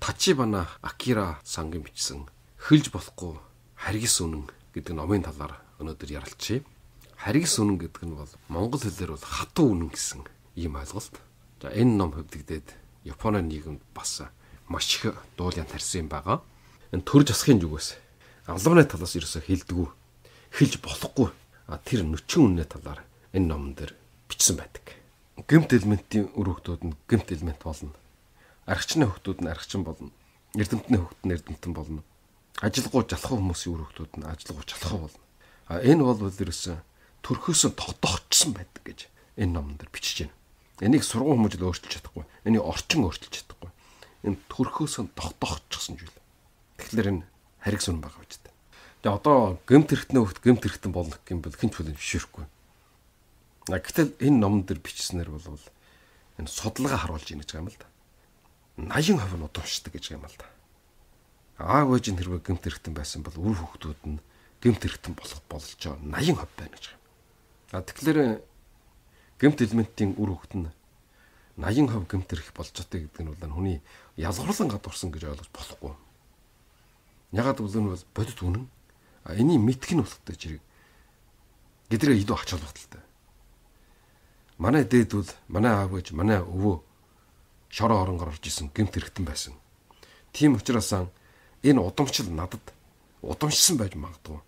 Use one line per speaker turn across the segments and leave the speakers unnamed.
Тачибана Акира Сангийн бичсэн Хөлж болохгүй харгис үнэн гэдэг номын талаар өнөөдөр ярилцъя. Харгис үнэн гэдэг нь бол монгол хэлээр бол хатуу үнэн гэсэн ийм ойлголт. За энэ ном хөвдөгдөөд Японы нийгэмд бас маш их дуулан тарьсан юм байгаа. Энэ төр засгийн зүгээс албаны талаас ерөөсө хэлдэггүй, хэлж болохгүй тэр нүчин үнний талаар энэ номон дээр бичсэн байдаг. Гэмт элементийн үр хөвгтүүд нь гэмт элемент болно. Аргачны хөвгтүүд нь аргачин болно. Эрдэмтний хөвгт нь эрдэмтэн болно. Ажилгуу жалхуу хүмүүсийн үр хөвгтүүд нь ажилгуу жалхуу болно. Энэ бол ерөөсө төрхөөсөө тогтоогдсон байдаг гэж энэ номон дээр бичиж байна. Энийг сургууль хүмүүжил өөрчилж чадахгүй. Энийг орчин өөрчилж чадахгүй. Энэ төрхөөсөө тогтоогдчихсон зүйл. Тэгэхээр энэ харгис үнэн байгаа гэж байна. Тэгээ одоо гэмт хэрэгтний хөвгт гэмт хэрэгтэн болно гэх юм бол хэн ч хүлээн зөвшөөрөхгүй. Гэтэл энэ номон дээр бичснээр бол энэ судалгаа харуулж ийн гэж байгаа юм л да. 80% нь удамшдаг гэж юм л да. Аав ээжийн хэрвээ гэмт хэрэгтэн байсан бол үр хөвгтүүд нь гэмт хэрэгтэн болох болж байгаа 80% байна гэж юм. Тэгэхээр гэмт элементийн үр хөвгт нь 80% гэмт хэрэг болж байгаа гэдэг нь бол хүний ялгарлан гадуурсан гэж ойлгож болохгүй. Ягаад гэвэл энэ бол бодит үнэн. Энийг мэдэх нь болохтой зэрэг гэдрээ илүү ач холбогдолтой. Манай дээдвэл манай аав ээж манай өвөө шороо оронгоор орж исэн гэмт хэрэгтэн байсан. Тийм учраас энэ удамшил надад удамшсан байж магадгүй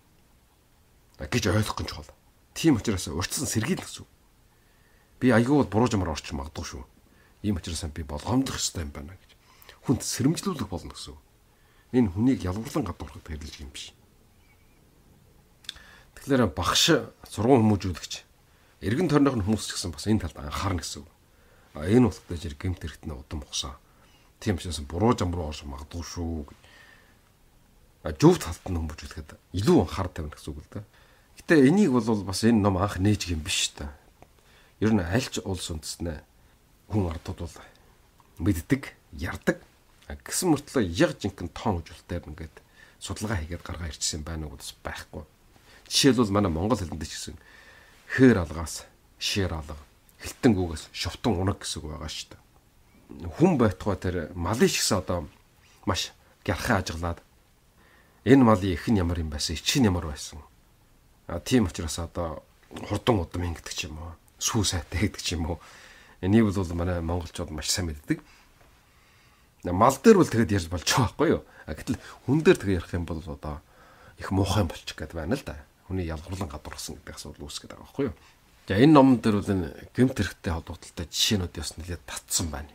гэж ойлгох гэж чухал. Тийм учраас урьдчилан сэргийлэх гэсэн. Би аягүй буруу жамаар орчих магадгүй шүү. Ийм учраас би болгоомдох хэрэгтэй юм байна гэж. Хүнд сэрэмжлүүлэх болно гэсэн. Энэ хүнийг ялгарлан гадуурхад хэрэглэж юм биш. Тэгэхээр багш сургууль хүмүүжүүлэгч эргэн тойрных нь хүмүүс ч гэсэн бас энэ талд анхаарна гэсэн. Энэ утгатай зэрэг гэмт хэрэгтний удам ухсан. Тийм учраас буруу зам руу орж магадгүй шүү. Зөв талд нь хүмүүжүүлэхэд илүү анхаарал тавина гэсэн үг л да. Гэтэ энийг бол бас энэ ном анх нээж юм биш та. Ер нь аль ч улс үндэстнээ хүн ардууд бол мэддэг, ярддаг. Гэсэн мөртлөө яг жинхэнэ тоон үзүүлэлтээр ингээд судалгаа хийгээд гаргаа ирчихсэн байна уу гэдээс байхгүй. Жишээлбэл манай монгол хэлэнд ч гэсэн хээр алгаас шээр алга, хэлтэн гүгээс шовтон унаг гэсэн үг байгаа шүү дээ. Хүн байтугай тэр малын шигсэн одоо маш гярхан ажиглаад энэ малын их нь ямар юм байсан, ич нь ямар байсан. Тийм учраас одоо хурдан удам ингэдэг ч юм уу, сүү сайтай гэдэг ч юм уу. Энийг бол манай монголчууд маш сайн мэддэг. Мал дээр бол тэгэд ярьж болж байгаа байхгүй юу? Гэтэл хүн дээр тэгээ ярих юм бол одоо их муухай болчих гээд байна л да. Хүний ялгарлан гадуурсан гэдэг асуудал үүсгээд байгаа байхгүй юу? За энэ номон дээр бол энэ гэмт хэрэгтэй холбоотой жишээнүүд бас нэлээд татсан байна.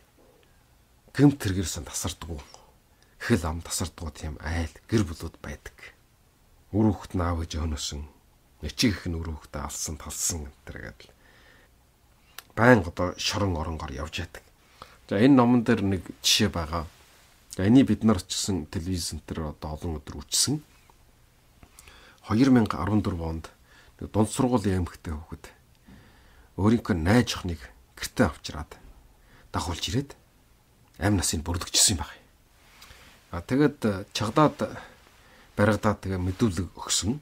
Гэмт хэрэгэрсэн тасардгүй. Хэл ам тасардгүй тийм айл гэр бүлүүд байдаг. Үр хөвгт наав гэж өнөөсөн. Эцэг их нь үр хөвгтээ алсан талсан гэдэг л байнга одоо шорон оронгоор явж яадаг. За энэ номон дээр нэг жишээ байгаа. За энийг бид нар ч гэсэн телевизэн дээр одоо олон өдөр үзсэн. 2014 онд нэг дунд сургуулийн эмэгтэй хүүхэд өөрийнхөө найз охиныг гэртээ авчираад дагуулж ирээд амь насыг бүрдэгчсэн юм байна. Тэгээд чагдаад баригдаад тэгээ мэдүүлэг өгсөн.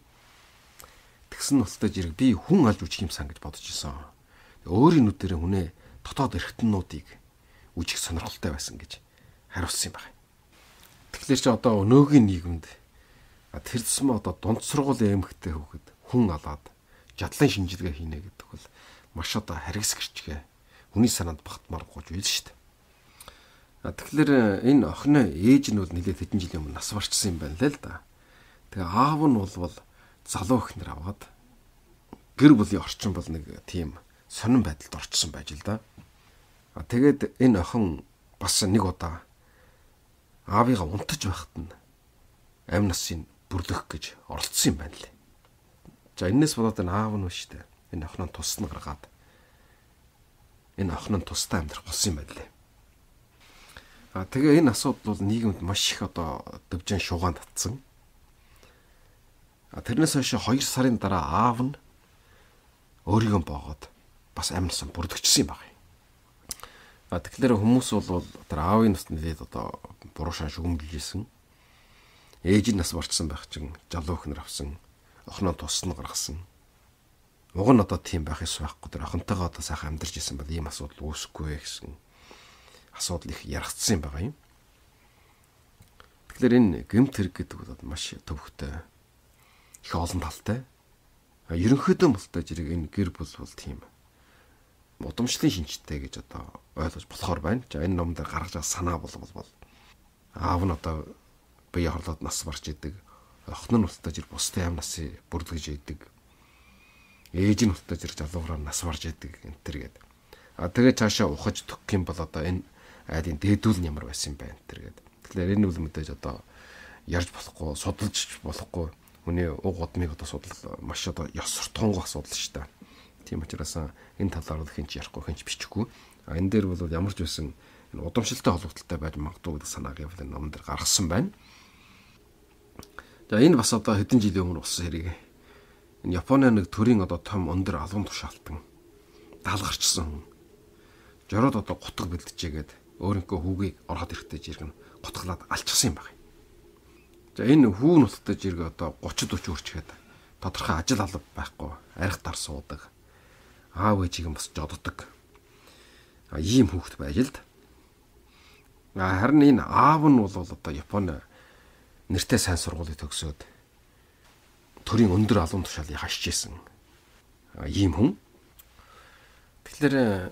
Тэгсэн нуттай зэрэг би хүн алж үжих юмсан гэж бодож исэн. Өөрийн нүдэрээ хүнээ дотоод эрхтэнүүдийг үжих сонирхолтой байсан гэж хариулсан юм байна. Тэгэхээр чи одоо өнөөгийн нийгэмд тэр зэсмэ одоо дунд сургуулийн эмэгтэй хүүхэд хүн алаад жадлан шинжилгээ хийнэ гэдэг бол маш одоо харгис гэрчгээ хүний санаанд багтмаар гооч байл шүү дээ. Тэгэхээр энэ охины ээж нь бол нэлээд хэдэн жилийн өмнө нас барчсан юм байна л да. Тэгээ аав нь бол залуу ихнэр аваад гэр бүлийн орчин бол нэг тийм сонирн байдалд орчсон байж л да. Тэгээд энэ охин бас нэг удаа аавыгаа унтаж байхад нь амь насыг бүрлэх гэж оролцсон юм байна лээ. За энэс болоод энэ аав нь шүү дээ. Энэ охин нь тусна гаргаад энэ охин нь тустай амьдрах болсон юм байна лээ. Тэгээ энэ асуудал бол нийгэмд маш их одоо дэвжэн шугаан татсан. Тэрнээс хойш 2 сарын дараа аав нь өөрийгөө боогод бас амь насаа бүрдэгчсэн юм байна. Тэгэхээр хүмүүс бол тэр аавын нас нэлээд одоо буруу шан шүгэмжилсэн. Ээж нь нас барчсан байх чинь жалуу ихнэр авсан, охиноо тусна гаргасан. Уг нь одоо тийм байх ёс байхгүй. Тэр охинтойгоо одоо сайхан амьдарч исэн бол ийм асуудал үүсэхгүй гэсэн асуудал их яригдсан юм байгаа юм. Тэгэхээр энэ гэмт хэрэг гэдэг бол маш төвөгтэй. Их олон талтай. Ерөнхийдөө мөлтөө зэрэг энэ гэр бүл бол тийм удамшлын шинжтэй гэж одоо ойлгож болохоор байна. За энэ ном дээр гаргаж байгаа санаа бол аав нь одоо бие хорлоод нас барч идэг. Охин нь устдаж ир бусдын аав насыг бүрлгэж идэг. Ээж нь устдаж ир залуугаар нас барж идэг энэ төр гээд. Тэгээ цаашаа ухаж төгөх юм бол одоо энэ айдын дээдүүл нь ямар байсан юм бэ энэ төр гээд. Тэгэхээр энэ үл мэдээж одоо ярьж болохгүй, судалж болохгүй. Хүний уг удмыг одоо судал маш одоо ёс суртахуунгүй асуудал шүү дээ. Тийм учраас энэ талаар л хинч ярихгүй, хинч бичихгүй. Энэ дээр бол ямар ч байсан энэ удамшилтай холбогдолтой байж магадгүй гэдэг санааг явал энэ ном дээр гаргасан байна. За энэ бас одоо хэдэн жилийн өмнө болсон хэрэг. Энэ Японы нэг төрийн одоо том өндөр албан тушаалтан даалгарчсан хүн. Жороод одоо гутга бэлтжээгээд өөрийнхөө хүүгийг ороход ирэхдээ жиргэн гутглаад алчсан юм байна. За энэ хүү нуттай жиргээ одоо 30-40 үрчгээд тодорхой ажил алба байхгүй, арх дар суудаг. Аав ээжийг нь бас жоддог. Ийм хүүхэд байж л. Харин энэ аав нь бол одоо Японы нэртэй сайн сургуулийг төгсөөд төрийн өндөр албан тушаалыг хашиж исэн. Ийм хүн. Тэгэхээр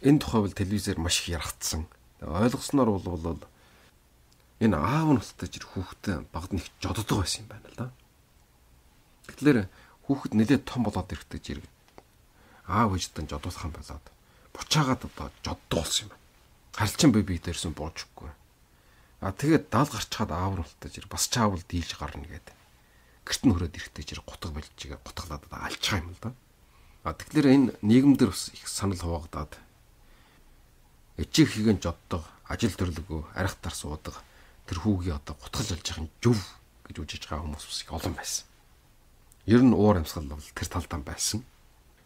энэ тухай бол телевизээр маш их яригдсан. Ойлгосноор бол энэ аав нь устдаж ир хүүхдээ багд нэг жоддог байсан юм байна л да. Тэгэхээр хүүхэд нэлээд том болоод ирэхдээ жирэг аав ээжтэй жодуулах юм болоод бучаагаад одоо жоддог болсон юм байна. Харилчин бие дээрсэн буужгүй. Тэгээд даал гарчхаад аав нь устдаж ир бас чаавал дийлж гарна гэдэг. Гэрт нь хөрөөд ирэхдээ жир гутга болчихгээ гутглаад алчгаа юм л да. Тэгэхээр энэ нийгэмдэр бас их санал хуваагдаад эцэг хийгэн жоддог, ажил төрлөгөө арх тар суудаг тэр хүүгийн одоо гутгалж алж байгаа юм зүв гэж үжиж байгаа хүмүүс их олон байсан. Ер нь уур амьсгал бол тэр талдаа байсан.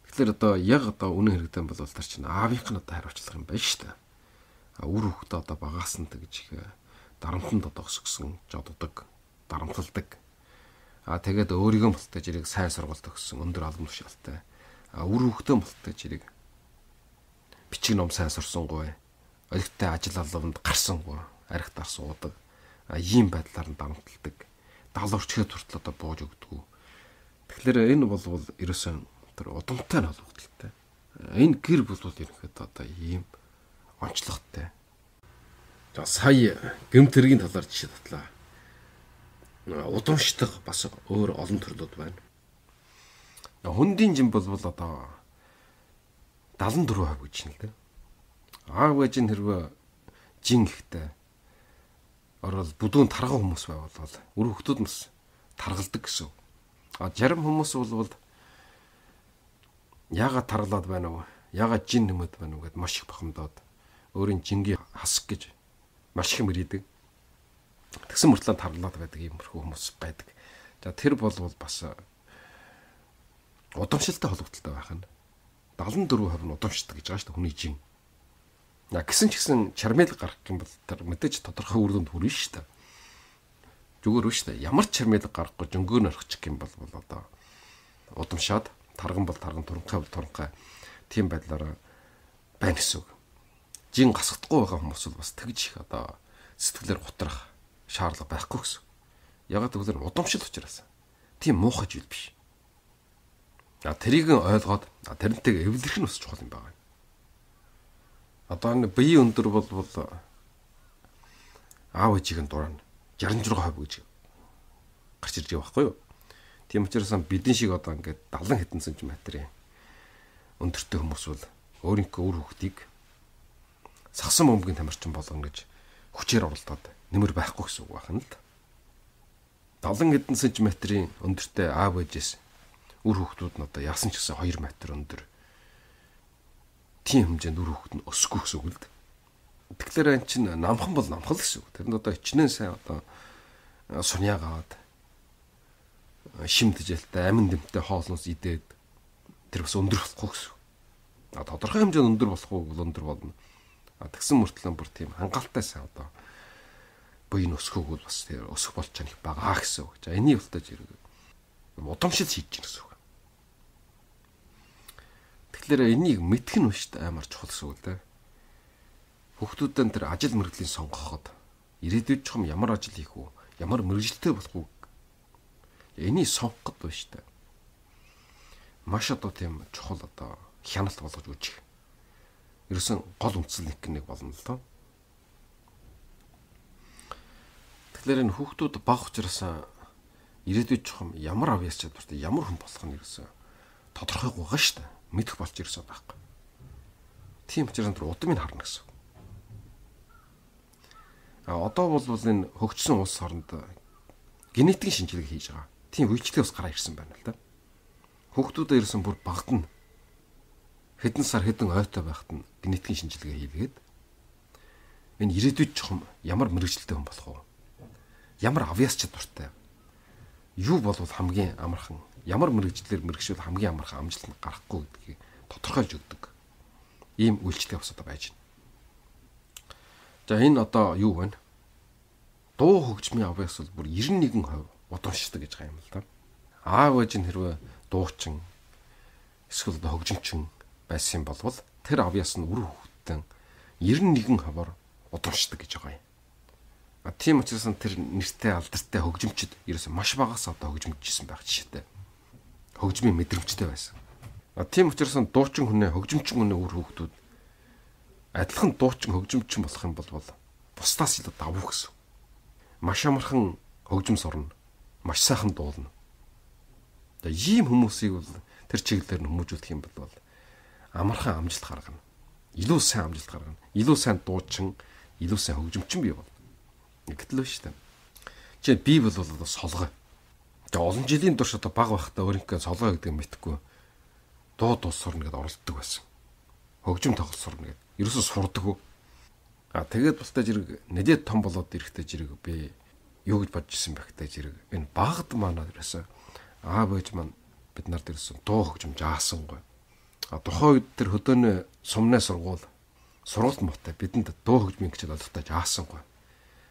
Тэгэхээр одоо яг одоо үнэн хэрэгтэн бол тэр чинь аавынх нь одоо хариуцлага юм байна шүү дээ. Үр хүүхдээ одоо багаас нь тэгж их дарамтанд одоо өсгсөн, жоддог, дарамталдаг. Тэгээд өөрийгөө мөлтөж ирийг сайн сургалт өгсөн, өндөр албан тушаалтай. Үр хүүхдээ мөлтөж ирийг бичиг ном сайн сурсангүй, олигтой ажил албанд гарсангүй, арх тар суудаг. Ийм байдлаар нь дарамталдаг. Далуурчгээд хүртэл одоо бууж өгдөг. Тэгэхээр энэ бол ерөөсөн тэр удамтай нь холбогдолтой. Энэ гэр бүл ерөнхийдөө одоо ийм онцлогтой. За сая гэмт хэргийн талаар жишээ татлаа. Удамшдаг бас өөр олон төрлүүд байна. Хөндийн жим бол одоо 74% гэж нь л дээ. Аав ээж нь хэрвээ жин ихтэй орол бүдүүн тарган хүмүүс байвал үр хүүхдүүд нас таргалдаг гэсэн. Зарим хүмүүс бол яагаад таргалаад байна вэ? Яагаад жин нэмэд байна вэ гэд маш их бахимдаад өөрийн жингийн хасах гэж маш их мөрийдэг. Тэгсэн мөртлөө таргалаад байдаг юм хүмүүс байдаг. За тэр бол бас удамшилтай холбогдолтой байх нь 74% нь удамшдаг гэж байгаа шүү дээ хүний жин. Гэсэн ч гэсэн чармэл гарах юм бол тэр мэдээж тодорхой үр дүнд хүрнэ шүү дээ. Зүгээр үү шүү дээ. Ямар ч чармэл гарахгүй жөнгөөр орчих юм бол одоо удамшаад тарган бол тарган, туранхай бол туранхай тийм байдлаараа байна гэсэн үг. Жин гасагдахгүй байгаа хүмүүс бол бас тэгж их одоо сэтгэлээр готрах шаардлага байхгүй гэсэн. Ягаад гэвэл удамшил учраас. Тийм муухай зүйл биш. Тэрийг ойлгоод тэрнтэйг эвлэрэх нь бас чухал юм байна. Одоо энэ бие өндөр бол аав ээжийн дурань 66% гэж гарч ирж байгаа байхгүй юу? Тийм учраас бидний шиг одоо ингээд 70 хэдэн сантиметрийн өндөртэй хүмүүс бол өөрийнхөө үр хүүхдийг сагсан бөмбөгийн тамирчин болгоно гэж хүчээр оролдоод нэмэр байхгүй гэсэн үг байна л да. 70 хэдэн сантиметрийн өндөртэй аав ээжээс үр хүүхдүүд нь одоо яасан ч гэсэн 2 метр өндөр тийм хэмжээнд үр хүүхэд нь өсөхгүй гэсэн үг л дээ. Тэгэхээр эн чинь намхан бол намхал гэсэн үг. Тэрэнд одоо хичнээн сайн одоо суньяагаад шимтжэлтэй амин дэмтэй хоолноос идээд тэр бас өндөр болохгүй гэсэн. Тодорхой хэмжээнд өндөр болохгүй бол өндөр болно. Тэгсэн мөртлөө бүр тийм хангалттай сайн одоо буй нь өсөхөг бол бас тэр өсөх болж байгаа нэг бага гэсэн үг. За энийг үлдээж удамшил хийж гин гэсэн үг. Тэгэхээр энийг мэдэх нь шүү дээ амар чухал гэсэн үг л дээ. Хүүхдүүдэн тэр ажил мэргэжлийн сонгоход ирээдүйд чухам ямар ажил хийх үү? ямар мэрэгжилтэй болох уу? Энийг сонгох гэдэг шүү дээ. Маш одоо тийм чухал одоо хяналт болгож үүсэх. Ерөөсөн гол үндсэл нэг болно л доо. Тэгэхээр энэ хүүхдүүд бага учраас ирээдүйд чухам ямар авьяас чадвартай ямар хүн болох нь ерөөсөн тодорхойг байгаа шүү дээ. Мэдэх болж ирсэн байхгүй. Тийм учраас тэр удамыг харна гэсэн. Одоо бол энэ хөгжсөн улс орнд генетикийн шинжилгээ хийж байгаа. Тийм үйлчлэл бас гараа ирсэн байна л да. Хүүхдүүдэд ирсэн бүр багт нь хэдэн сар хэдэн ойтой байхад нь генетикийн шинжилгээ хийлгээд энэ ирээдүйд чухам ямар мэрэгжилтэй хүн болох вэ? Ямар авьяас чадвартай? Юу болвол хамгийн амархан, ямар мэрэгчлэр мэрэгшүүл хамгийн амархан амжилт гарахгүй гэдгийг тодорхойлж өгдөг. Ийм үйлчлэл бас одоо байж байна. За энэ одоо юу вэ? Дуу хөгжмийн авьяас бол бүр 91% удамшдаг гэж байгаа юм л да. Аав ээж нь хэрвээ дуучин эсвэл хөгжимчин байсан болвол тэр авьяас нь үр хөвгтөн 91%-аар удамшдаг гэж байгаа юм. Тийм учраас тэр нэртэй алдартай хөгжимчд ерөөсөө маш багаас одоо хөгжимчсэн байх жишээтэй. Хөгжмийн мэдрэмжтэй байсан. Тийм учраас дуучин хүнээ хөгжимчин хүнээ үр хөвгтүүд адилхан дуучин хөгжимчин болох юм бол бусдаас илүү давуу гэсэн. Маш амархан хөгжим сурна. Маш сайхан дуулна. Ийм хүмүүсийг бол тэр чиглэлээр нь хүмүүжүүлэх юм бол амархан амжилт гаргана. Илүү сайн амжилт гаргана. Илүү сайн дуучин, илүү сайн хөгжимчин бий болно. Гэтэл биш үү? Жишээ би бол одоо солгой. Тэгээ олон жилийн турш одоо баг байхдаа өөрийнхөө солгой гэдэг нь мэдхгүй дуу сурна гэдээ оролддог байсан. Хөгжим тоглолт сурна гэдэг. Ерөөсөө сурдаг. Тэгээд бусдаа жирэг нэдэд том болоод ирэхдээ жирэг би юу гэж бодож ирсэн бэ гэхдээ жирэг энэ багд манаа ерөөсөө аав ээж маань бид нарт ирсэн дуу хөгжим жаасангүй. Тухайн үед тэр хөдөөний сумны сургууль мотой бидэнд дуу хөгжмийн хичээл олгохтой жаасангүй.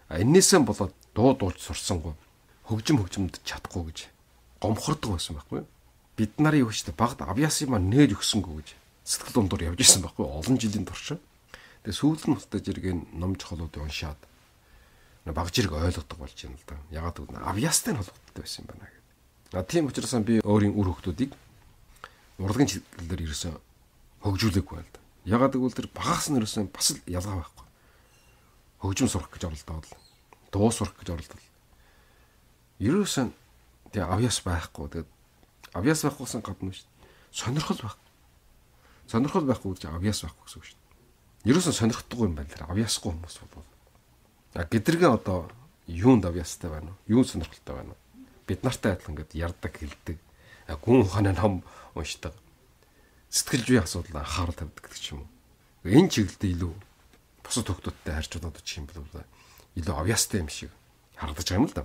Эннээсээ болоод дууж сурсангүй. Хөгжимд чадахгүй гэж гомхордог байсан байхгүй. Бид нарын юу ч багд авьяасыг маань нээж өгсөнгөө гэж сэтгэл дундуур явж исэн байхгүй олон жилийн турш. Тэгээ сүүлд нь хөстөж иргэн ном чухлууд уншаад баг зэрэг ойлгодог болж байна л да. Ягаад гэвэл авьяастай нь холбогддог байсан юм байна гэдэг. Тийм учраас би өөрийн үр хөвгтүүдийг урлагийн чиглэлээр ерөөсөө хөгжүүлээгүй байл да. Ягаад гэвэл тэр багаас нь ерөөсөө бас л ялгаа байхгүй. Хөгжим сурах гэж оролдоод дуу сурах гэж оролдоод ерөөсөө тэгээ авьяас байхгүй. Тэгээд авьяас байхгүйсэн гадна шүү дээ. Сонирхол байх. Сонирхол байхгүй гэж авьяас байхгүй гэсэн үг шүү дээ. Ерөөсөө сонирхдаггүй юм байна тэр авьяасгүй хүмүүс бол. Гэдрэгэн одоо юунд авьяастай байна уу? Юу сонирхолтой байна уу? Бид нартай адилхан ингээд ярддаг, хэлдэг. Гүн ухааны ном уншдаг. Сэтгэл зүйн асуудал анхаарал тавьдаг гэх юм уу. Энэ чиглэлд илүү бусад хүмүүстэй харьцуулаад очих юм бол илүү авьяастай юм шиг харагдаж байгаа юм л да.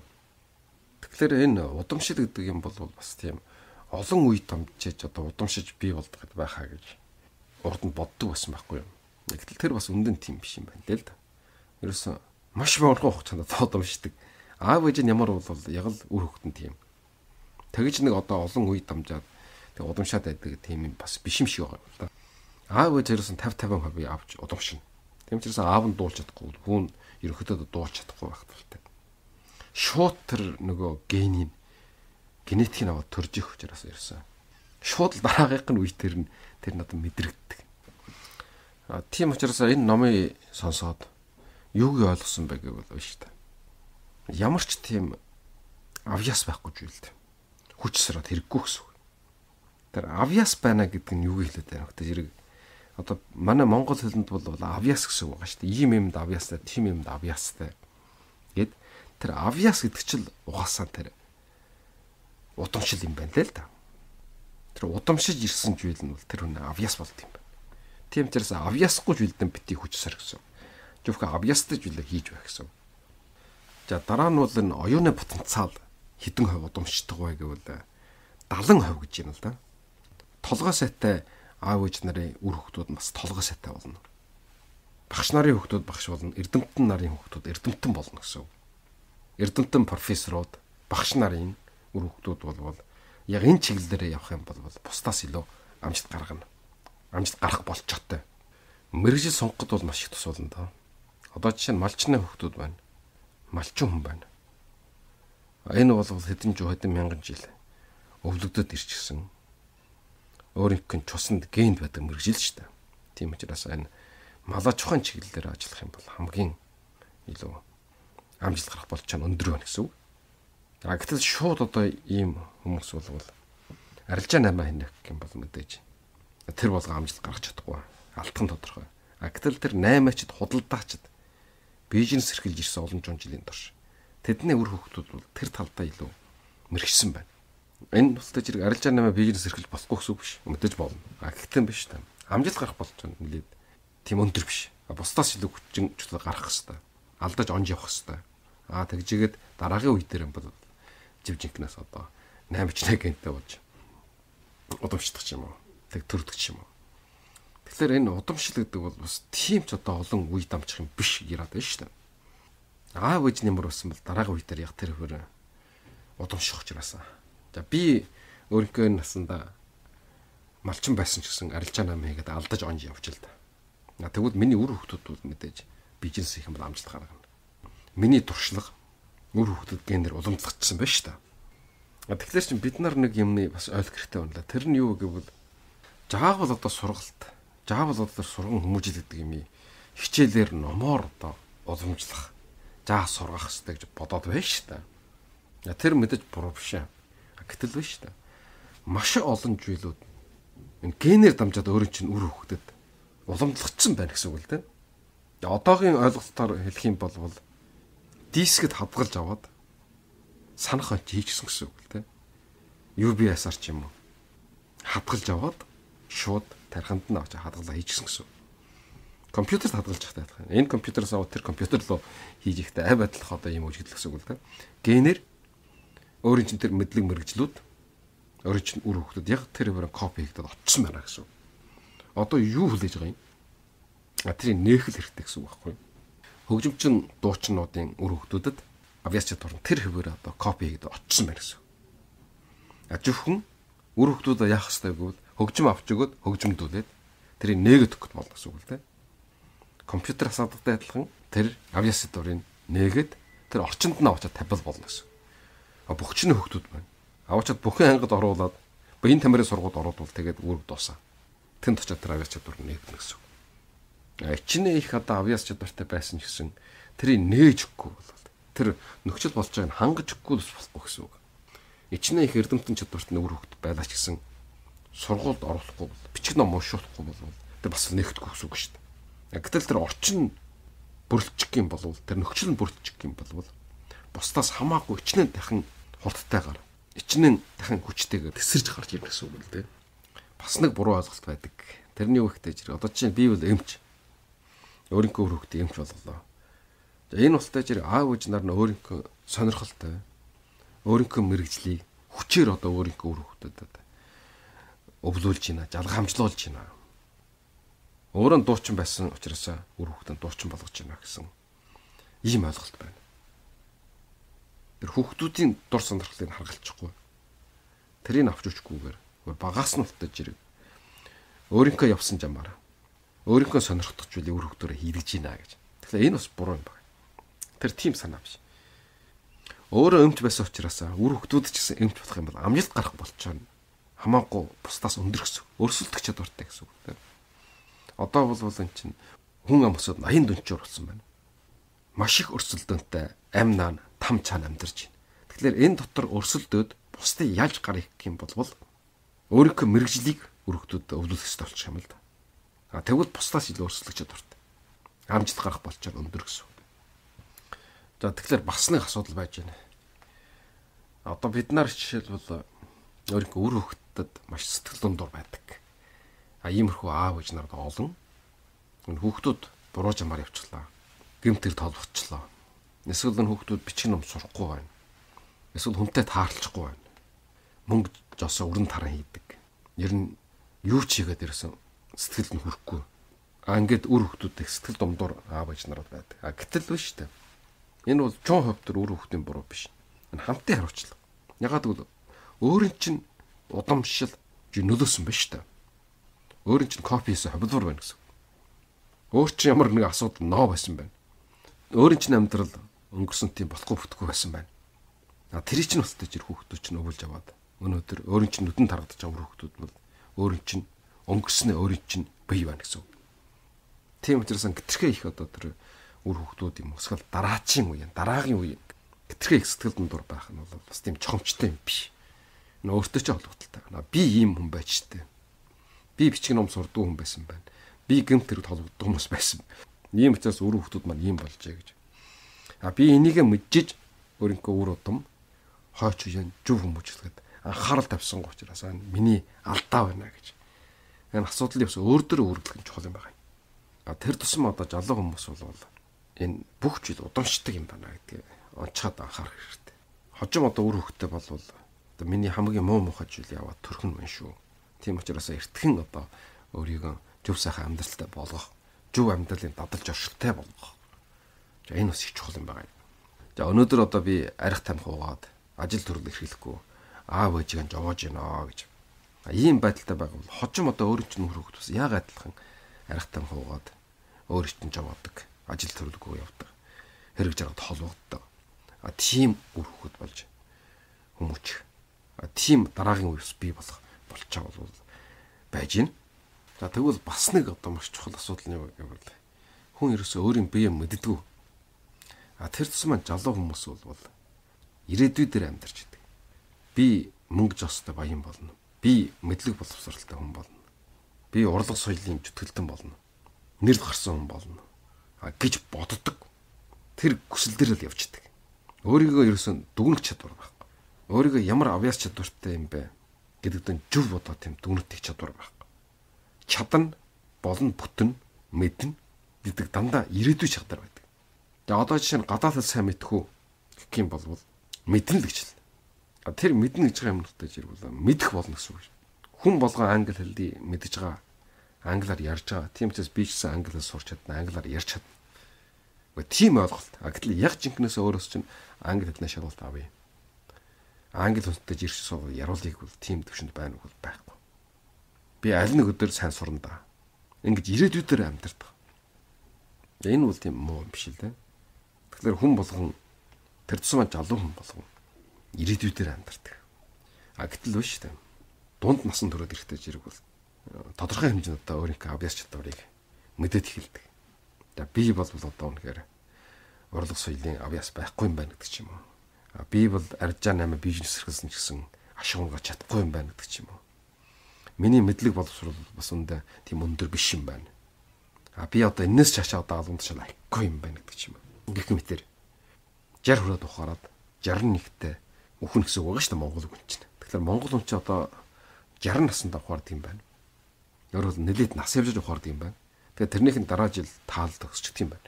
Тэгэхээр энэ удамшил гэдэг юм бол бас тийм олон үе дамжиж одоо удамшиж бий болдог байхаа гэж урд нь боддог байсан байхгүй юу. Гэтэл тэр бас үндэн тийм биш юм байна л да. Ерөөсөн маш богино хугацаанд удамшдаг. Аав ээж нь ямар бол яг л үр хөвгтөн тийм. Тэгэж нэг одоо олон үе дамжаад тэг удамшаад байдаг тийм юм бас биш юм шиг байгаа юм л да. Аав ээж ерөөсөн 50-50% авч удамшина. Тийм ч гэсэн аав нь дуулж чадахгүй хүн ерөнхийдөө дуулж чадахгүй байх талтай. Шууд тэр нөгөө генетикийг аваад төрж их учраас ирсэн. Шууд л дараагийнх нь үе тэр надад мэдрэгддэг. Тийм учраас энэ номыг сонсоод юуг ойлгосон бэ гэвэл биш та. Ямар ч тийм авьяас байхгүй зүйл дээ. Хүч сараад хэрэггүй гэсэн үг. Тэр авьяас байна гэдэг нь юу хэлээд байна вэ? Тэр одоо манай монгол хэлэнд бол авьяас гэсэн үг байгаа шүү дээ. Ийм юмд авьяастай, тийм юмд авьяастай. Гэт тэр авьяас гэдэг чинь угаасаа тэр удамшил юм байна л да. Тэр удамшиж ирсэн зүйл нь бол тэр хүн авьяас болд юм байна. Тийм учраас авьяасгүй зүйлдэн бити хүч сар гэсэн. Зөвхөн авьяастай зүйлээ хийж байх гэсэн. За дараа нь бол энэ оюуны потенциал хэдэн хувь удамшдаг вэ гэвэл 70% гэж юм л да. Толгой сайтай аав ээж нарын үр хөвгтүүд бас толгой сайтай болно. Багш нарын хөвгтүүд багш болно. Эрдэмтэн нарын хөвгтүүд эрдэмтэн болно гэсэн. Эрдэмтэн профессорууд багш нарын үр хөвгтүүд бол яг энэ чиглэлээр явах юм бол бусдаас илүү амжилт гаргана. Амжилт гарах болчтой. Мэргэжил сонгоход бол маш их тус болно доо. Одоо жишээ нь малчны хөвгтүүд байна. Малчин хүн байна. Энэ бол хэдэн мянган жил өвлөгдөд ирчихсэн. Өөрийнх нь чусанд генд байдаг мэрэгжил шүү дээ. Тийм учраас энэ малаа чухайн чиглэлээр ажиллах юм бол хамгийн илүү амжилт гарах болчоо өндөр байна гэсэн үг. Гэтэл шууд одоо ийм хүмүүс бол арилжаа 8 хийнэ гэх юм бол мэдээж тэр болго амжилт гаргах чадахгүй. Алдах нь тодорхой. Гэтэл тэр 8-ачд худалдаачд бизнес эрхэлж ирсэн олон жилийн турш тэдний үр хөвгтүүд бол тэр талдаа илүү мэрэгсэн байна. Энэ тусдаа зэрэг арилжаа 8 бизнес эрхэлж болохгүй гэсэн үг биш. Мэдээж болно. Гэхдээ биш та. Амжилт гарах болж байгаа нэлээд тийм өндөр биш. Бусдаас илүү хүчин чөлөө гарах хэвээр. Алдаж онж явах хэвээр. Тэгжигээд дараагийн үе дээр бол живжинкнаас одоо 8-ч гэнтэй болж удамшдаг юм уу? Тэг төрдөг юм уу? Тэгэхээр энэ удамшил гэдэг бол бас тийм ч одоо олон үе дамжих юм биш яраад байна шүү дээ. Аав ээж нэмэр болсон бол дараагийн үе дээр яг тэр хөр удамших учраас. За би өөрийнхөө насанда малчин байсан ч гэсэн арилжаа 8 хийгээд алдаж онж явж л та. Тэгвэл миний үр хөвгтүүд бол мэдээж бизнес хийх юм бол амжилт гаргана. Миний туршлага үр хөвгтөд генер уламжлагдсан байна шүү дээ. Тэгэхээр чинь бид нар нэг юмны бас ойлгох хэрэгтэй байна. Тэр нь юу гэвэл жаавал одоо сургалт, жаавал одоо сурган хүмүүжил гэдэг юм хичээлээр номоор одоо уламжлах, жаа сургах хэрэгтэй гэж бодоод байна шүү дээ. Тэр мэдээж буруу биш ээ. Гэтэл биш шүү дээ. Маш олон зүйлүүд энэ генээр дамжаад өөрөө чинь үр хөвгтөд уламжлагдсан байна гэсэн үг л дээ. Одоогийн ойлголтоор хэлэх юм бол дискэд хадгалж аваад санах онч хийчихсэн гэсэн үг л дээ. UBS-аар ч юм уу хадгалж аваад шууд тархинд нь авч хадгалаа хийчихсэн гэсэн. Компьютерт хадгалж явах таах. Энэ компьютерээс аваад тэр компьютер руу хийж ихтэй авь адилах одоо юм үжиглэх гэсэн үг л дээ. Генээр өөрийн чинь тэр мэдлэг мэрэгжлүүд өөрийн чинь үр хөвгтөд яг тэр бүрэн копи хийгдээд очсон байна гэсэн. Одоо юу хүлээж байгаа юм? Тэрийг нээх хэрэгтэй гэсэн үг байхгүй юу? Хөгжимчин дуучнуудын үр хөвгтөдөд авиач чадвар тэр хэвээр одоо копи хийгдээд очсон байна гэсэн. Зөвхөн үр хөвгтөдөө яах хэрэгтэй гэвэл хөгжим авч өгөөд хөгжимдүүлээд тэрийг нээгээд өгөх болно гэсэн үг л дээ. Компьютер асуудалтай адилхан тэр авиач чадварыг нээгээд тэр орчинд нь авчаад тавил болно гэсэн. Бүхчний хөвгтүүд байна. Аваачаад бүхэн ангид оруулаад биеийн тамирын сургууд оруулвал тэгээд үүрэг дуусаа. Тэнд очиад тэр авиач чадвар нээгдэнэ гэсэн. Ичнээ их одоо авиач чадвартай байсан ч гэсэн тэрийг нээж өгөхгүй бол тэр нөхцөл болж байгааг хангаж өгөхгүй болохгүй гэсэн үг. Ичнээ их эрдэмтэн чадвартай үр хөвгт байлаа ч гэсэн сургуульд оруулахгүй бол бичиг ном уншуулахгүй бол тэр бас нээгдэхгүй гэсэн үг шүү дээ. Гэтэл тэр орчин бүрэлдэхүүн юм болвол тэр нөхцөл нь бүрэлдэхүүн юм болвол бусдаас хамаагүй ичнээ дахин хурдтайгаар ичнээ дахин хүчтэйгээр тесэрж гарч ирнэ гэсэн үг л дээ. Бас нэг буруу ойлголт байдаг. Тэрний юу ихтэй зэрэг одоо чинь би бол эмч. Өөрийнхөө үр хөвгт эмч болголоо. За энэ устай зэрэг аав ээж нар нь өөрийнхөө сонирхолтой өөрийнхөө мэрэгжлийг хүчээр одоо өөрийнхөө үр хөвгтөд өвлүүлж байна, жалгамжлуулж байна. Өөрөө дуучин байсан учраас үр хөвгтөнд дуучин болгож байна гэсэн ийм ойлголт байна. Тэр хүүхдүүдийн дур сонирхлыг харгалчихгүй. Тэрийг авч өчгүйгээр багаас нь утаж ирэг. Өөрийнхөө явсан жамаар өөрийнхөө сонирхдаг зүйлийг үр хөвгтөөрөө хийгдэж байна гэж. Тэгэхээр энэ бас буруу юм байна. Тэр тийм санаа биш. Өөрөө эмч байсан учраас үр хөвгтүүд ч гэсэн эмч болох юм бол амжилт гарах болчихно. Хамаагүй бусдаас өндөр гэсэн. Өрсөлдөх чадвартай гэсэн үг. Одоо бол энэ чинь хүн ам өсөд 80 дүнчээр болсон байна. Маш их өрсөлдөөнтэй амнаа там цаана амьдарч байна. Тэгэхээр энэ дотор өрсөлдөөд бусдыг яаж гарах юм бол өөрийнхөө мэрэгжлийг өргөдөд өвлөх хэрэгтэй болчих юм л да. Тэгвэл бусдаас илүү өрсөлдөх чадвартай. Амжилт гарах болчоор өндөр гэсэн. За тэгэхээр бас нэг асуудал байж байна. Одоо бид нар жишээлбэл өөрийнхөө үр хөвгтөд маш сэтгэл дундуур байдаг. Иймэрхүү аав ээж нарт олон хүүхдүүд буруу жамаар явчлаа. Гэмтэр толбочлоо. Эсвэл энэ хүүхдүүд бичиг ном сурахгүй байна. Эсвэл хүнтэй таарлахгүй байна. Мөнгө жосоо өрн таран хийдэг. Ер нь юу ч хийгээд ирсэн сэтгэлд нь хүрэхгүй. Ингээд үр хүүхдүүдтэй сэтгэл дундуур аав ээж нарууд байдаг. Гэтэл биш үү? Энэ бол чон хөвтөр үр хүүхдийн буруу биш. Энэ хамтын хариуцлага. Ягаад гэвэл өөрийн чинь удамшил нөлөөсөн байна шүү дээ. Өөрийн чинь копиэс хөвлөр байна гэсэн. Өөр чинь ямар нэг асуудал ноо байсан байна. Өөрийн чинь амьдрал өнгөрсөн тийм болохгүй бүтггүй байсан байна. Тэр чинь бас тэр хүүхдүүд чинь өвөлж аваад өнөөдөр өөрийн чинь нүдэн тарагдаж байгаа хүүхдүүд бол өөрийн чинь өнгөрснөө өөрийн чинь бие байна гэсэн. Тийм учраас гитэрхээ их одоо тэр үр хүүхдүүд юм өсгөл дараачийн үе, дараагийн үе гитэрхээ их сэтгэл дундуур байх нь бол бас тийм чухамчтай юм биш. Өөртөө ч холбогдолтой. Би ийм хүн байж тээ. Би бичиг ном сурдаг хүн байсан байна. Би гэмт хэрэг толгоддог хүмүүс байсан. Ийм учраас үр хүүхдүүд маань ийм болжээ гэж. Би энийгээ мэджиж өөрийнхөө үр удам хойч үеийн зөв хүмүүжлэхэд анхаарал тавьсан учраас миний алдаа байна гэж. Энэ асуудлыг бас өөр дөр өөрчлөх нь чухал юм байна. Тэр тусам одоо залуу хүмүүс бол энэ бүх зүйл удамшдаг юм байна гэдгийг онцгойд анхаарах хэрэгтэй. Хожим одоо үр хөвгтэй болвол одоо миний хамгийн муу мухай зүйл яваад төрхөн мэн шүү. Тийм учраас эртхэн одоо өөрийгөө зөв сайхан амьдралтай болгох, зөв амьдралын дадалж оршилтай болгох. За энэ бас их чухал юм байна. За өнөөдөр одоо би арх тамхи уугаад ажил төрөл эрхлэхгүй аав ээжийг жовоож гинэ гэж. Ийм байдалтай байгаад хожим одоо өөр чинь үр хөвгт бас яг адилхан арх тамхи уугаад өөр чинь жовоодаг. Ажил төрөлгүй явдаг. Хэрэг жаргад холбогддог. Тийм үр хөвгт болж хүмүүжих. Тийм дараагийн үеэс бий болох болчаа бол байж гин. За тэгвэл бас нэг одоо маш чухал асуудал нь юу гэвэл хүн ерөөсөө өөрийн биеэ мэддэггүй. Тэр тусмаа залуу хүмүүс бол ирээдүй дээр амьдарч идэг. Би мөнгө жостой баян болно. Би мэдлэг боловсралтай хүн болно. Би урлаг соёлын зүтгэлтэн болно. Нэр гарсан хүн болно гэж боддог. Тэр хүсэл дээр л явж идэг. Өөрийгөө ерөөсөн дүгнэх чадвар байхгүй. Өөрийгөө ямар авьяас чадвартай юм бэ гэдэгт нь зөв бодоо тийм дүгнэх чадвар байхгүй. Чадна, болно, бүтэн, мэднэ гэдэг дандаа ирээдүй чадвар байдаг. Тэгээ одоо жишээ нь гадаад хэл сайн мэдхүү гэх юм бол мэднэ л гэж л. Тэр мэднэ гэж байгаа юмнуудтай зэрэг мэдэх болно гэсэн үг. Хүн болгоо англи хэлийг мэдж байгаа. Англиар ярьж байгаа. Тийм учраас би ч гэсэн англи хэл сурч чадна, англиар ярьж чадна. Тийм ойлголт. Гэтэл яг жинкнээс өөрөөс чинь англи хэлний шалгалт авъя. Англи хүнтэй ирэх суу яруулыг бол тийм төвшөнд байна уу байхгүй. Би аль нэг өдөр сайн сурна да. Ингэж ирээдүйдээр амьдардаг. Энэ бол тийм муу юм биш л дээ. Тэгэхээр хүн болгон тэр тусмаа залуу хүн болгон ирээдүйдээр амьдардаг. Гэтэл биш дээ. Дунд насан туршид ирэхтэй зэрэг бол тодорхой хэмжээнд одоо өөрийнхөө авьяас чадварыг мэдээд эхэлдэг. За би бол одоо үнэхээр урлаг соёлын авьяас байхгүй юм байна гэдэг ч юм уу. Би бол арьжаа 8 бизнес эрхэлсэн ч гэсэн ашигунгаа чадахгүй юм байна гэдэг ч юм уу. Миний мэдлэг боловсрол бас үндэ тийм өндөр биш юм байна. Би одоо энэс цаашаа одоо алуун тушаал аяхгүй юм байна гэдэг ч юм уу. Гэх мэтэр 60 хүрээд ухаарад 61-тэй үхэн гэсэн үг байгаа шүү дээ Монгол үг чинь. Тэгэхээр Монгол хүн чинь одоо 60 наснд ухаард юм байна. Өөрөөр нэлээд нас явж ухаард юм байна. Тэгэхээр тэрнийхэн дараа жил таал төгсчих юм байна.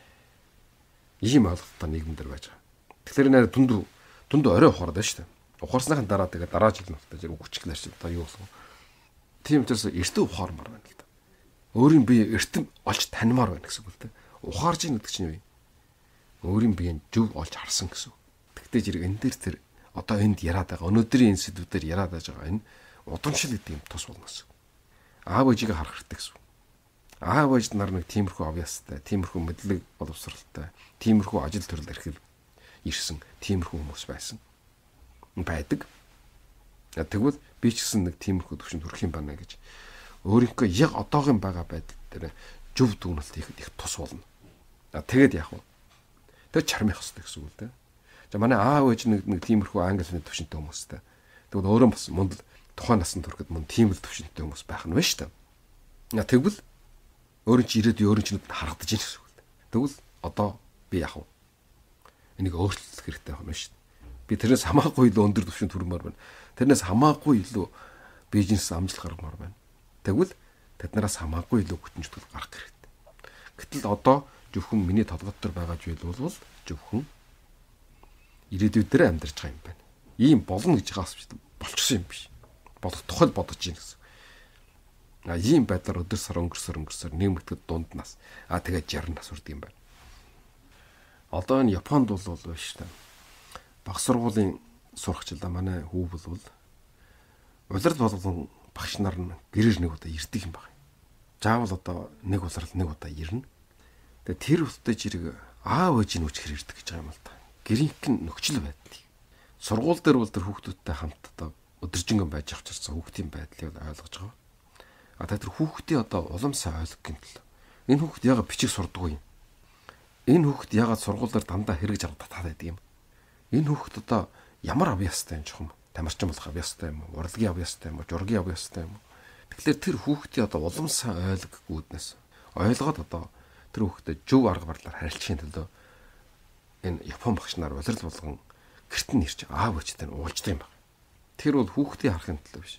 Ийм ойлголттой нийгэмдэр байж байгаа. Тэгэхээр нэр дүнд орой ухаард байна шүү дээ. Ухаарсныхан дараа тэгээ дараа жил нь ухтаж үгчглэр чи одоо юу болов. Тийм учраас эртөө ухаармаар байна л да. Өөрийн бие эртэн олж танимаар байна гэсэн үг л дээ. Ухаарж ийн гэдэг чинь юу юм? Өөрийн биеийг зөв олж харсан гэсэн. Тэгтээ зэрэг энэ дээр тэр одоо энд яриад байгаа өнөөдрийн энэ сэдвүүдээр яриад байж байгаа энэ удамшил гэдэг юм тус болно гэсэн. Аав ээжийг харах хэрэгтэй гэсэн. Аав ээж нар нэг тиймэрхүү авьяастай, тиймэрхүү мэдлэг боловсралтай, тиймэрхүү ажил төрөл эрхэл ирсэн, тиймэрхүү хүмүүс байсан. Байдаг. Тэгвэл би ч гэсэн нэг тиймэрхүү төвшөнд хүрэх юм байна гэж өөрийнхөө яг одоогийн байгаа байдал дээр зөв дүгнэлт хийхэд их тус болно. Тэгээд яах вэ? Тэр чармих хэрэгтэй гэсэн үг л дээ. За манай аав ээж нэг тиймэрхүү англи хэлний төвшөнтэй хүмүүстэй. Тэгвэл өөрөө бас мундал тухайн насанд хүрэхэд мөн тийм л төвшөнтэй хүмүүс байх нь байна шүү дээ. Тэгвэл өөрийн чи ирээдүйн өөрийн чинүүд харагдаж байна гэсэн үг. Тэгвэл одоо би яах вэ? Энийг өөрчлөх хэрэгтэй байна шүү дээ. Би тэрнээс хамаагүй илүү өндөр төвшөнд хүрмээр байна. Тэрнээс хамаагүй илүү бизнес амжилт гаргамаар байна. Тэгвэл тэднээс хамаагүй илүү хүчин зүтгэл гарах хэрэгтэй. Гэтэл одоо зөвхөн миний толгой дотор байгаа зүйл бол зөвхөн ирээдүйд дээр амьдарч байгаа юм байна. Ийм болно гэж байгаас болчихсон юм биш. Болох тухай бодож ийн гэсэн. Ийм байдлаар өдөр сар өнгөрсөр нэмэгдэхэд дунд нас. Тэгээд 60 нас хүрдэг юм байна. Одоо энэ Японд бол байна шүү дээ. Баг сургуулийн сурагчлаа манай хүү бол улирал болгон багш нар нь гэрээр нэг удаа ирдэг юм байна. Заавал одоо нэг улирал нэг удаа ирнэ. Тэгээ тэр үстэй жирэг аав ээжийн үчгэр ирдэг гэж байгаа юм л да. Гэрийнхэн нөхцөл байдлыг Сургууль дээр бол тэр хүүхдүүдтэй хамт одоо өдөржингөн байж авчирсан хүүхдийн байдлыг ойлгож байгаа. Тэр хүүхдийн одоо улам сайн ойлгох гэмтэл энэ хүүхд яагаад бичих сурдаггүй юм? Энэ хүүхд яагаад сургуулиар дандаа хэрэгж авах татаад байдаг юм? Энэ хүүхд одоо ямар авьяастай юм чухам? Тамирчин болох авьяастай юм уу? Урлагийн авьяастай юм уу? Жургийн авьяастай юм уу? Тэгэхээр тэр хүүхдийн одоо улам сайн ойлгохгүйднээс ойлгоод одоо тэр хүүхдэд зөв арга барилаар харилцахын төлөө энэ Япон багш нар улирал болгон гэрт нь ирж аав ээжтэй нь уулздаг юм байна. Тэр бол хүүхдийн харахын төлөө биш.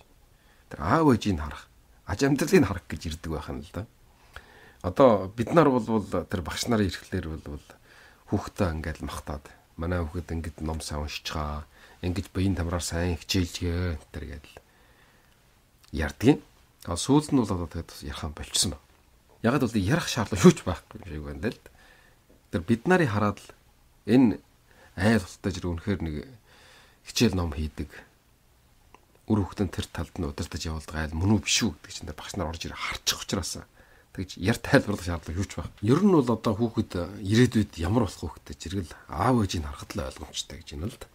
Тэр аав ээжийг харах, аж амьдралыг харах гэж ирдэг байх нь л да. Одоо бид нар бол тэр багш нарын ирэхлээр бол хүүхдээ ингээд махтаад манай хүүхэд ингээд ном сайн уншиж байгаа, ингээд биеийн тамраар сайн хичээлгээ тэр гэдэл ярьдгийн. Сүүлд нь бол одоо тэгээд ярих юм болчихсон байна. Ягаад бол ярих шаардлага юу ч байхгүй юм шиг байна л. Тэр бид нарыг хараад л энэ айл тултай жир үнэхээр нэг хичээл ном хийдэг. Үр хүүхдэн тэр талд нь удирдах явуулдаг айл мөн үү биш үү гэдэг чинь багш нар орж ирээ харчих учраас тэгж яр тайлбарлах шаардлага юу ч байх. Ер нь бол одоо хүүхэд ирээдүйд ямар болох хүүхдэд зэрэгэл аав ээжийг харахад л ойлгомжтой гэж байна л да.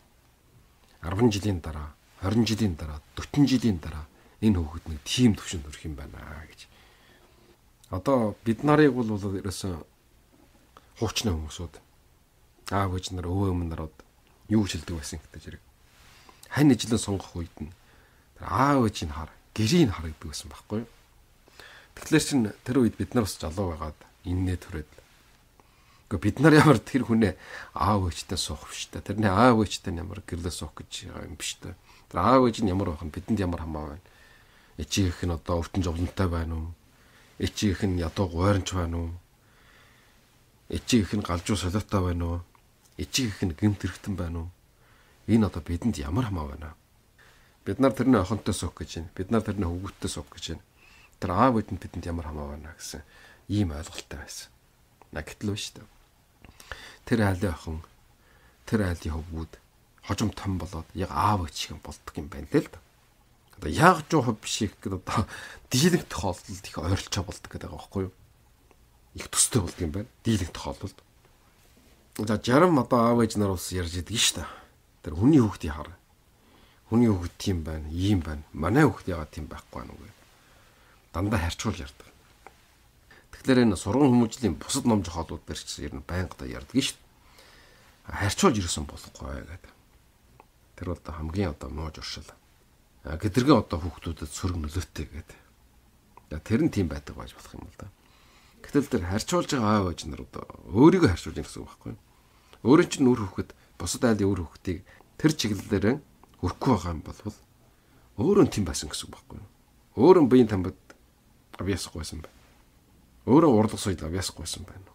10 жилийн дараа, 20 жилийн дараа, 40 жилийн дараа энэ хүүхэд нэг тийм төвшөнд хүрэх юм байна гэж. Одоо бид нарыг бол ерөөсөн хуучны хүмүүсүүд аав ээж нар өвөө өмнө нарууд юу хэлдэг байсан гэдэг зэрэг. Хань ижлэн сонгох үед нь аав ээжийг хар, гэрийг хар гэдэг байсан байхгүй юу? Тэгэхээр чин тэр үед бид нар бас залуу байгаад иннээ төрөөд. Гэхдээ бид нар ямар тэр хүнээ аав ээжтэй суух биш та. Тэрний аав ээжтэй ямар гэрлээ суух гэж юм биш та. Тэр аав ээж нь ямар байх нь бидэнд ямар хамаа байна. Эчигийнх нь одоо өвтөн жовлонтой байна уу? Эчигийнх нь ядуу гойронч байна уу? Эчигийнх нь галжуу солиотой байна уу? Эчигийнх нь гэмт хэрэгтэн байна уу? Энэ одоо бидэнд ямар хамаа байна. Бид нар тэрний охинтой суух гэж байна. Бид нар тэрний хөвгөттэй суух гэж байна. Тэр аав ээжэнд бидэнд ямар хамаа байна гэсэн ийм ойлголттой байсан. Гэтэл биш үү? Тэр айлын охин, тэр айлын хөвгүүд хожим том болоод яг аав ээж шиг болдог юм байна л да. Одоо яг жоо хов биш их гэдэг одоо дийлэнх тохиолдолд их ойрлцоо болдог гэдэг байгаа байхгүй юу? Их төстэй болдог юм байна. Дийлэнх тохиолдолд. За жарам одоо аав ээж нар ус ярьж идэг шүү дээ. Тэр хүний хүүхдийн хар. Хүний хүүхд тийм байна, ийм байна. Манай хүүхд яагаад тийм байхгүй байна уу? Дандаа харьцуул ярьдаг. Тэгэхээр энэ сургууль хүмүүжлийн бусад ном зохиолууд дээр ч ер нь байнга да ярьдаг шүү дээ. Харьцуулж ирсэн болохгүй гэдэг. Тэр бол хамгийн одоо муу журшил. Гэдэрхэн одоо хүүхдүүдэд сөрөг нөлөөтэй гэдэг. Тэр нь тийм байдаг байж болох юм л да. Гэтэл тэр харьцуулж байгаа аав ээж нар одоо өөрийгөө харьцуулж байгаа гэсэн үг байхгүй юу? Өөрөө чинь үр хүүхэд бусад айлын үр хүүхдийг тэр чиглэлээр хөрөхгүй байгаа юм бол өөрөө тийм байсан гэсэн үг байхгүй юу? Өөрөө биеийн тамбад авьяасахгүй байсан байна. Өөрөө урлаг сойд авьяасахгүй байсан байна.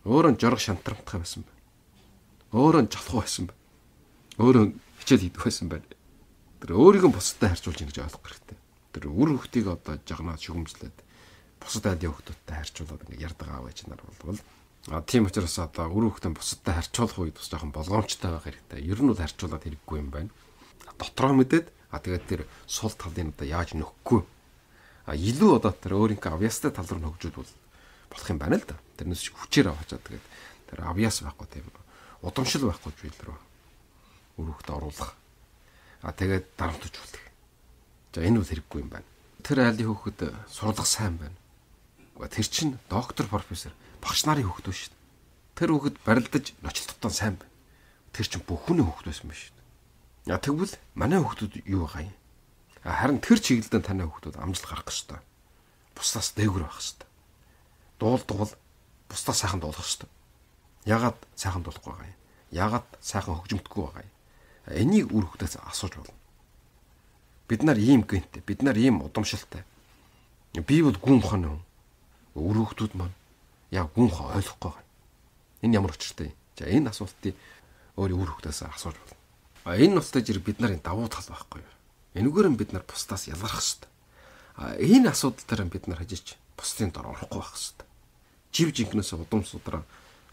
Өөрөө жорог шантрамттай байсан байна. Өөрөө жалхуу байсан байна. Өөрөө хичээл хийдэг байсан байна. Тэр өөрийгөө бусадтай харьцуулж ингэж ойлгох хэрэгтэй. Тэр үр хүүхдийг одоо жагнаад шүгэмжлээд бусад айлын хүүхдүүдтэй харьцуулаад ингэ ярддаг аав ээж нар бол тийм учраас одоо үр хүүхдээ бусадтай харьцуулах үед бас жоохон болгоомжтой байх хэрэгтэй. Ер нь бол харьцуулаад хэрэггүй юм байна. Дотроо мэдээд тэгээд тэр сул талын одоо яаж нөхөхгүй илүү одоо тэр өөрийнхөө авьяастай тал руу хөгжүүд болох юм байна л да. Тэрнээс хүчээр аваачаад тэгээд тэр авьяас байхгүй тийм удамшил байхгүй зүйл рүү өрөөхд оруулах. Тэгээд дарамтжуулах. За энэ бол хэрэггүй юм байна. Тэр айлын хүүхэд сурлах сайн байна. Тэр чинь доктор профессор багш нарын хүүхэд биш шүү дээ. Тэр хүүхэд барилдаж ночлолттой сайн байна. Тэр чинь бүх хүний хүүхэд байсан биш шүү дээ. Тэгвэл манай хүүхдүүд юу байгаа юм? Харин тэр чиглэлдээ таны хүүхдүүд амжилт гарах ёстой. Бусдаас дээгүүр байх ёстой. Дуулдаг бол бусдаас сайхан дуулах ёстой. Ягаад сайхан дуулахгүй байгаа юм? Ягаад сайхан хөгжимдөггүй байгаа юм? Энийг үр хүүхдээс асууж болно. Бид нар ийм гэнтэй, бид нар ийм удамшилтай. Би бол гүн хон юм. Үр хүүхдүүд маань яг гүн хон ойлгохгүй байгаа. Энэ ямар учиртай юм? За энэ асуултыг өөрийн үр хүүхдээс асууж болно. Энэ нутагт жир бид нарын давуу тал байхгүй юу? Энэгээр нь бид нар бусдаас ялгарх ёстой. Энэ асуудал дээр бид нар хажиж бусдын дор орохгүй байх ёстой. Жив жинкнээс удам судраа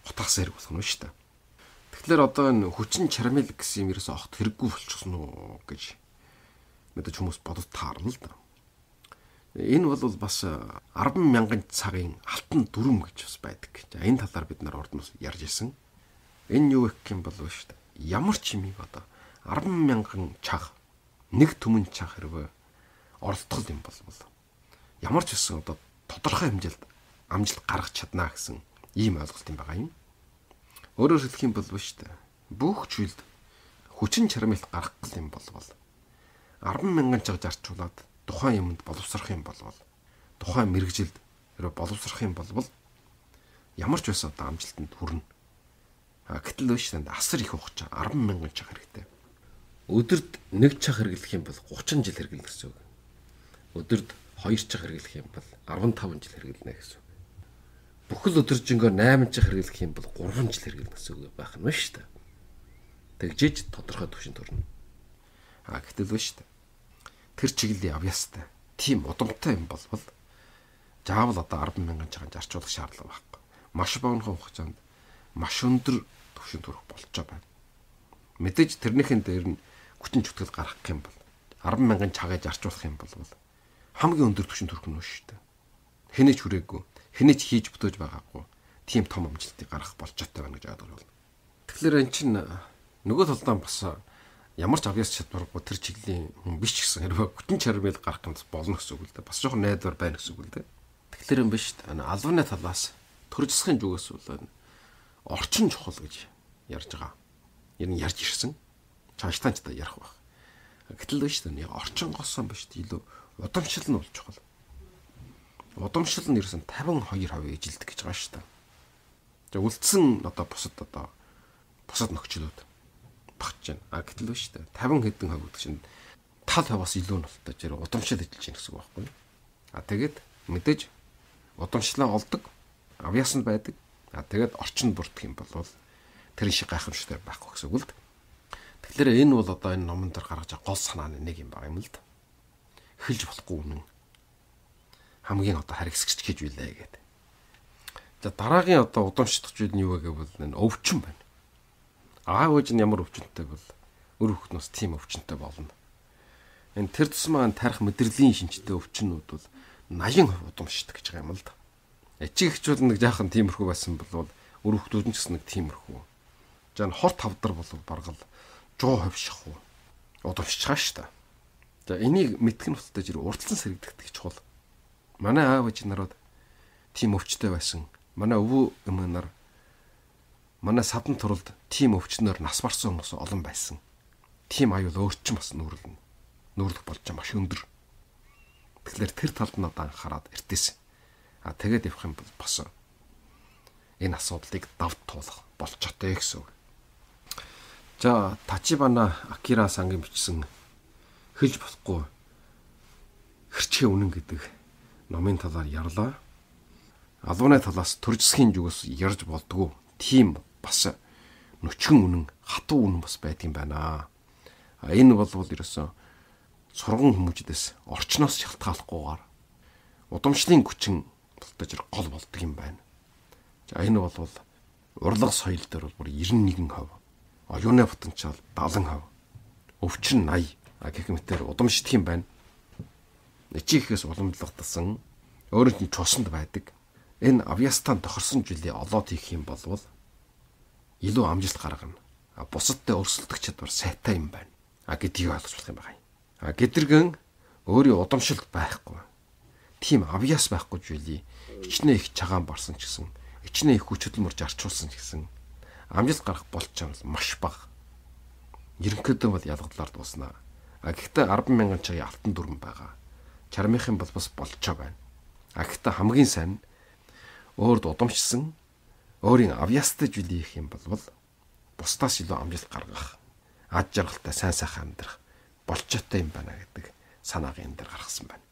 утгаас хэрэг болох нь шүү дээ. Тэгэхээр одоо энэ хүчин чармил гэсэн юм ерөөсөө огт хэрэггүй болчихсон уу гэж мэдээж хүмүүс бодож таарна л да. Энэ бол бас 10,000 цагийн алтан дүрм гэж бас байдаг. За энэ талаар бид нар ордноос ярьж ирсэн. Энэ юу гэх юм бол шүү дээ. Ямар ч юмыг одоо 10,000 чаг нэг түмэн чаг хэрвээ оролдох юм бол ямар ч гэсэн одоо тодорхой хэмжээнд амжилт гаргах чадна гэсэн ийм ойлголт юм байгаа юм. Өөрөөр хэлэх юм бол шүү дээ. Бүх зүйлд хүчин чармайлт гарах юм бол 10,000 чаг зарчуулаад тухайн юмд боловсрох юм бол тухайн мэрэгжилд хэрвээ боловсрох юм бол ямар ч байсан одоо амжилтанд хүрнэ. Гэтэл шүү дээ асар их хугацаа 10,000 чаг хэрэгтэй. Өдөрт 1 чаг хэрэглэх юм бол 30 жил хэрэглэх гэсэн үг. Өдөрт 2 чаг хэрэглэх юм бол 15 жил хэрэглэнэ гэсэн үг. Бүхэл өдөржингөө 8 чаг хэрэглэх юм бол 3 жил хэрэглэнэ гэсэн үг байх нь шүү дээ. Тэгжээж тодорхой түвшинд хүрнэ. Гэтэл шүү дээ. Тэр чиглэлийн авьяастай тийм удамтай юм бол заавал одоо 10,000 чагаан зарчуулах шаардлага байхгүй. Маш богино хугацаанд маш өндөр түвшинд хүрэх болж байгаа. Мэдээж тэрнийхэн дээр нь хүчин чөтгөл гаргах юм бол 10,000 чагаа зарчуулах юм бол хамгийн өндөр түвшинд хүрэх нь шүү дээ. Хэнийч хүрээгүй, хэнийч хийж бүтээж байгаагүй тийм том амжилтыг гаргах болжтой байна гэж ойлгож байна. Тэгэхээр эн чинь нөгөө талдаа бас ямар ч авьяас чадваргүй тэр чиглэлийн хүн биш гэсэн хэрвээ хүчин чармайл гарах юм болно гэсэн үг л дээ. Бас жоохон найдвар байна гэсэн үг л дээ. Тэгэхээр юм биш дээ. Албаны талаас төр засгийн зүгээс орчин чухал гэж ярьж байгаа. Ер нь ярьж ирсэн. Цаашдаа ч ярих байх. Гэтэл биш дээ. Орчин госон биш дээ. Илүү удамшил нь болж чухал. Удамшил нь ерсэн 52% ижилдэг гэж байгаа шүү дээ. За үлдсэн одоо бусад нөхцөлүүд багч байна. Гэтэл биш дээ. 50 хэдэн хувь гэдэг чинь тал хуваас илүү нь болтой жир удамшил ажиллаж байна гэсэн үг байхгүй. Тэгээд мэдээж удамшлаа олдог, авьяасанд байдаг. Тэгээд орчинд бүрдэх юм бол тэр шиг гайхамшигтай байхгүй гэсэн үг л. Тэгэхээр энэ бол одоо энэ номон дээр гаргаж байгаа гол санааны нэг юм байна юм л да. Эхэлж болохгүй үнэн. Хамгийн одоо харгисгч гэж билээ гэдэг. За дараагийн одоо удамшдах зүйл нь юу вэ гэвэл энэ өвчин байна. Аав ээж нь ямар өвчнөтэй бол өр хүүхднээс тийм өвчнөтэй болно. Энэ тэр тусмаа тарих мэдрэлийн шинжтэй өвчнүүд бол 80% удамшдаг гэж байгаа юм л да. Эцэг эхчүүд нэг жаахан тиймэрхүү байсан бол өр хүүхдүүд нь ч гэсэн нэг тиймэрхүү. За хорт тавдар бол баргал 100% шахуу удамшиж байгаа шүү дээ. За энийг мэдэх нь болтой жир урдсан сэргийдэх чухал. Манай аав ээж нарууд тийм өвчтэй байсан. Манай өвөө эмээ нар манай садан туралд тийм өвчнөөр нас барсан хүмүүс олон байсан. Тийм аюул өөрчн бас нүүрлэх болж байгаа маш өндөр. Тэгэхээр тэр талд нь одоо анхаарал эртээсэн. Тэгээд явах юм бол бас энэ асуудлыг давд туулах болчтой гэсэн үг. За Тачибана Акира сангийн бичсэн хэлж болохгүй хэрчээ үнэн гэдэг номын талаар ярьлаа. Албаны талаас төр засгийн зүгээс ярьж болдгоо тийм бас нүчгэн үнэн, хатуу үнэн бас байдгийн байна. Энэ бол ерөөсөн сурган хүмүүждээс орчноос шалтгааллахгүйгээр удамшлын хүчин тултаж гол болдог юм байна. За энэ бол урлаг соёл дээр бол бүр 91%, оюуны потенциал 70%, өвчин 80 гэх мэтээр удамшдаг юм байна. Эцэгээс уламжлагдсан өөрөнд нь чусанд байдаг. Энэ авьяастан тохирсон жилийн олоод хийх юм бол илүү амжилт гаргана. Бусадтай өрсөлдөх чадвар сайтай юм байна. Гэдгийг ойлгож болох юм байна. Гэдэргэн өөрийн удамшилт байхгүй. Тийм авьяас байхгүй жилийн хичнээн их чагаан барсан ч гэсэн, хичнээн их хүч хөдөлмөрж арчуулсан ч гэсэн амжилт гарах болж байгаа бол маш бага. Ерөнхийдөө бол ялгалаар дуусна. Гэхдээ 10,000 цагийн алтан дүрм байгаа. Чармийнхан бол бас болж байгаа байна. Гэхдээ хамгийн сайн өөрд удамшсан өөрийн авьяастай жилийн их юм бол бусдаас илүү амжилт гаргах, ад жаргалтай сайн сайхан амьдрах болчтой юм байна гэдэг санааг энэ дээр гаргасан байна.